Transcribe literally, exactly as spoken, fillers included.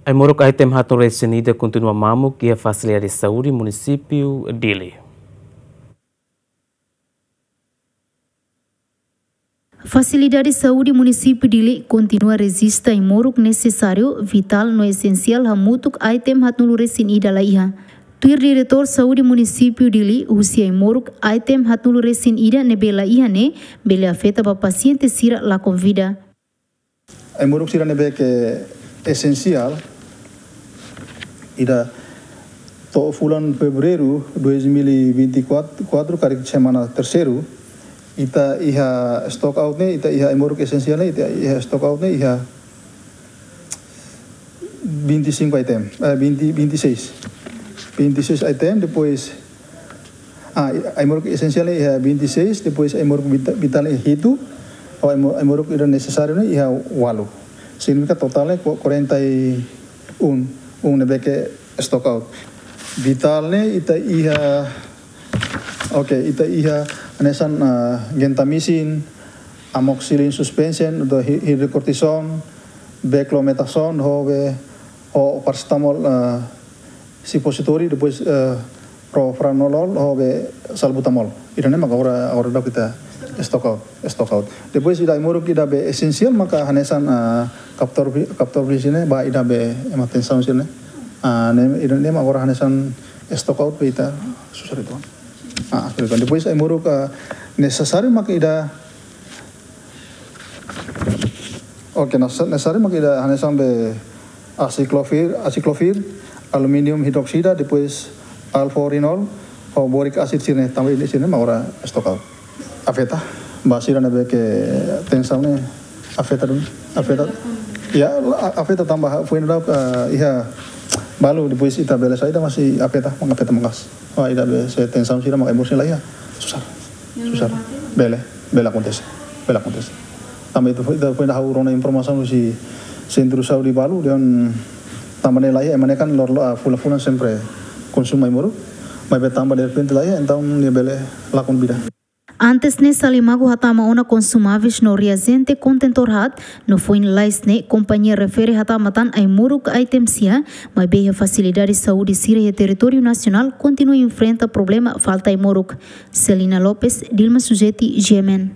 Ai-moruk item haatnulu resin ida kontinua mamuk iha Fasilidade Saúde Munisípiu Dili. Fasilidade Saúde Munisípiu Dili kontinua rejista ai-moruk nesesáriu, vitál no esensiál hamutuk item haatnulu resin ida la iha. Tuir Diretór Saúde Munisípiu Dili, husi ai-moruk item haatnulu resin ida ne'ebé la iha ne'e bele afeta ba pasiente sira lakon vida. Ai-moruk sira ne'ebé ke esensiál, ida to'o fulan Fevereiru dois mil e vinte e quatro, karik semana terseiru, ita iha stock out ne'e, ita iha ai-moruk esensiál ne'e, ita iha stock out ne'e, iha vinte e cinco item, eh, vinte, vinte e seis. Vinte e seis item, depois, ah, ai-moruk esensiál ne'e iha vinte e seis, depois ai-moruk vita-, vitál ne'e hitu, ho ai-mo-, ai-moruk ida nesesáriu ne'e iha ualu. Signifika totál ne'e qu-, quarenta e um, um ne'ebé ke stock out. Vitál ne'e ita iha, oke, ita iha hanesan, ah, gentamicin, amoxicillin suspension, atu hi-, hidrocortisone, beclomethasone, ho be, ho paracetamol, ah, suppository, depois, eh, propranolol, ho be salbutamol. Ida-ne'e maka agora, agora daudauk ita stock out, stock out. Depois ida ai-moruk ida be esensiál maka hanesan, eh, kaptor vi-, kaptor visin ne'e, ba ida be ema tensaun sira-ne'e. Ah, ne'e, ida-ne'e maka agora hanesan stock out be ita susar uitoan. Ah, susar uitoan. Depois ai-moruk, eh, nesesáriu maka ida Oke, na sa-, nesesáriu maka ida hanesan be aciclovir, aciclovir, aluminium hidroksida, depois alforinol, ho boric acid sira-ne'e, tanba ida sira-ne'e mak agora stock out. Afeta, ba sira ne'ebé ke tensaun ne'e afeta duni, afeta. Ya, la-, afeta tanba foin daudauk, eh, iha balu, depois ita bele saida masih afeta, maka afeta maka'as. Ba ida be se tensaun sira maka ai-moruk sira la iha. Susar. Susar. Bele, bele akontese. Bele akontese. Tanba ita foin, ita foin daudauk rona informasaun husi sentru saúde balu, dehan tanba ne'e la iha, ema ne'e kan lor-, lor-, ah, fulan-fulan sempre konsumu ai-moruk. Maibé tanba derrepente la iha, entaun nia bele lakon vida. Antes ne'e Salimagu hatama ona konsumáveis no reajente kontentór haat, no foin lalais ne'e kompañia refere hatama tan ai-moruk item sira, maibé iha fasilidade saúde sira iha territóriu nasionál kontinua enfrenta problema falta ai-moruk. Celina Lopes, Dilma Sujeti, G M N.